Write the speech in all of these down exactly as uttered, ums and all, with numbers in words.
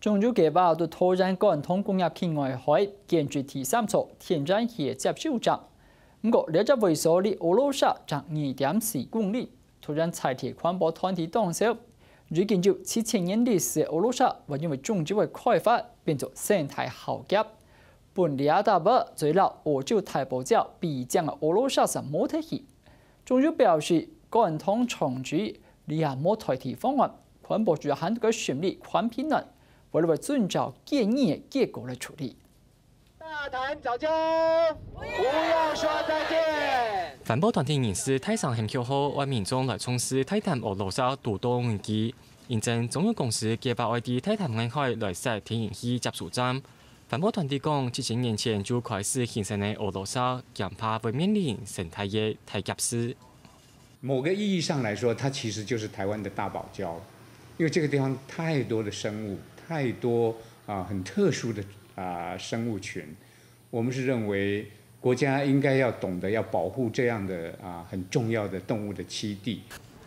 中油計畫對桃園管通工業區外海建置第三座天然氣接收站。毋過，這隻位所離奧羅沙正二點四公里，桃園在地環保團體當愁，已經有七千年歷史个奧羅沙會因為中油个開發變做生態浩劫。分這搭位最老歐洲大堡礁比將个奧羅沙就無忒去。中油表示，管通重置這下無代替方案，環保局還在該審理寬頻案，未來會遵照建議个結果來處理。大潭藻礁，不要說再見。環保團體人士大聲喊口號，為民眾來重視大潭奧羅沙堵堵危機。因為中油公司計畫愛在大潭外海來設天然氣接收站。環保團體講，七千年前就開始興盛个奧羅沙，驚怕會面臨生態个大劫勢。某個意義上來說，它其實就是台灣的大堡礁，因為這個地方太多的生物，太多啊、很特殊的啊、生物群。我們是認為國家應該要懂得要保護這樣的啊、很重要的動物的棲地。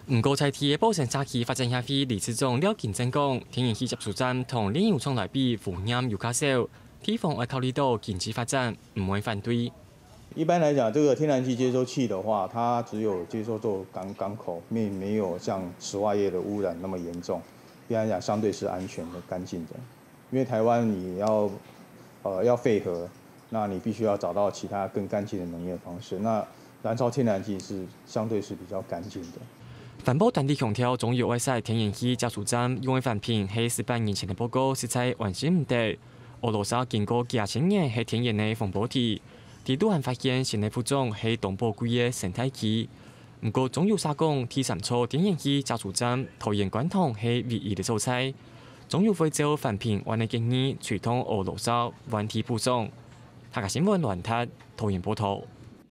毋過，在地个保生社區發展協會理事長廖金正講，天然氣接收站同煉油廠來比，污染又較少，地方愛考慮到經濟發展，毋會反對。一般來講，這個天然氣接收器的話，它只有接收做港，港口，並沒有像石化業的污染那麼嚴重。一般來講，相對是安全的、乾淨的。因為台灣你要，呃，要廢核，那你必須要找到其他更乾淨的能源方式。那燃燒天然氣是相對是比較乾淨的。環保團體強調，中油愛設天然氣接收站，用个環評係十八年前个報告，實在完成毋得。奧羅沙經過幾千年係天然个風波地，在都還發現新个物種係當寶貴个生態系。毋過，中油社講，第三座天然氣接收站桃園觀塘係唯一个所在。中油會照環評案个建議，追蹤奧羅沙，換地補種。客家新聞亂踢，桃園報導。